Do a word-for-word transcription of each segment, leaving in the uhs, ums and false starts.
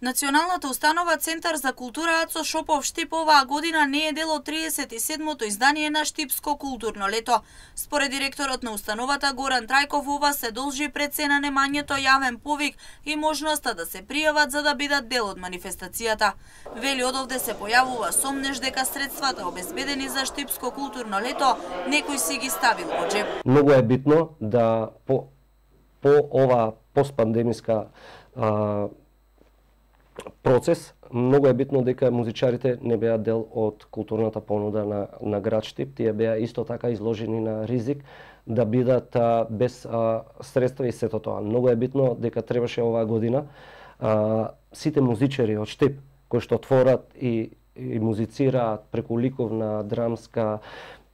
Националната установа Центар за култура Ацо Шопов Штип оваа година не е дел од триесет и седмото издание на Штипско културно лето. Според директорот на установата Горан Трајков, ова се должи пред се на немањето јавен повик и можноста да се пријават за да бидат дел од манифестацијата. Вели одовде се појавува сомнеж дека средствата обезбедени за Штипско културно лето некој си ги ставил во джеб. Многу е битно да по, по ова постпандемиска а, процес, многу е битно дека музичарите не беа дел од културната понуда на, на град Штип. Тие беа исто така изложени на ризик да бидат а, без а, средства и сето тоа. Многу е битно дека требаше оваа година а, сите музичари од Штип кои што творат и, и музицираат преку ликовна, драмска,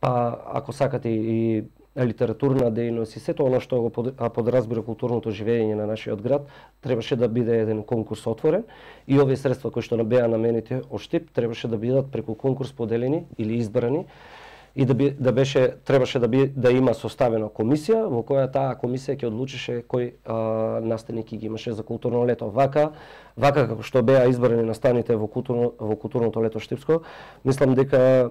па ако сакате и литературна дејност и сето она што го подразбира културното живење на нашиот град, требаше да биде еден конкурс отворен и овие средства кои што беа наменети од Штип требаше да бидат преку конкурс поделени или избрани и да, би, да беше требаше да би да има составена комисија во која таа комисија ќе одлучише кој а, наставник ги имаше за културно лето. Вака, вака како што беа избрани наставните во културно во културното лето Штипско, мислам дека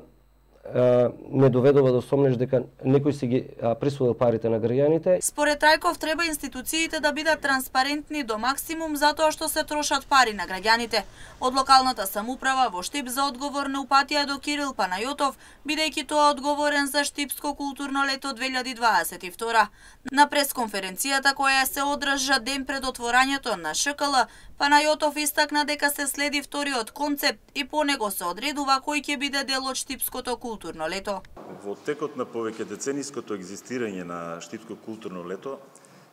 не доведува до сомнеж дека некој си ги присвоил парите на граѓаните. Според Трајков треба институциите да бидат транспарентни до максимум затоа што се трошат пари на граѓаните. Од локалната самоуправа во Штип за одговор не упатија до Кирил Панајотов, бидејќи тоа одговорен за Штипско културно лето две илјади дваесет и втора. На пресконференцијата која се одржа ден пред отворањето на ШКЛ, Панајотов истакна дека се следи вториот концепт и по него се одредува кој ќе биде дел од Штипското културно лето. Во текот на повеќе децениското екзистирање на Штипско културно лето,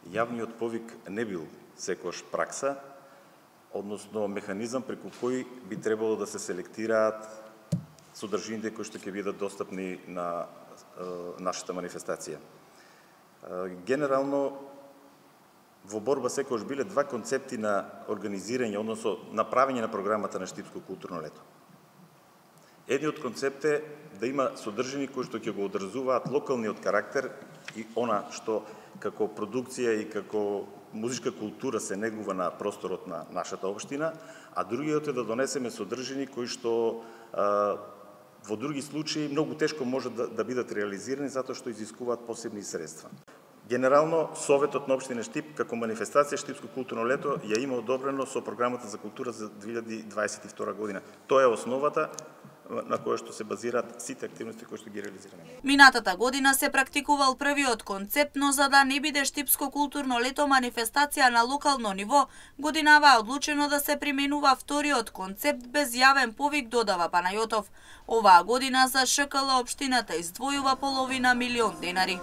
јавниот повик не бил секојаш пракса, односно механизам преку кој би требало да се селектираат содржините кои што ќе бидат достапни на е, нашата манифестација. Е, генерално, во борба секојаш биле два концепти на организирање, односно направење на програмата на Штипско културно лето. Едниот концепт е да има содржини кои што ќе го одразуваат локалниот карактер и она што како продукција и како музичка култура се негува на просторот на нашата општина, а другиот е да донесеме содржини кои што а, во други случаи многу тешко може да, да бидат реализирани затоа што изискуваат посебни средства. Генерално, Советот на општина Штип како манифестација Штипско културно лето ја има одобрено со програмата за култура за две илјади дваесет и втора година. Тоа е основата на која што се базираат сите активности кои што ги реализираме. Минатата година се практикувал првиот концепт, но за да не биде Штипско културно лето манифестација на локално ниво, годинава е одлучено да се применува вториот концепт без јавен повик, додава Панајотов. Оваа година за ШКЛ општината издвојува половина милион денари.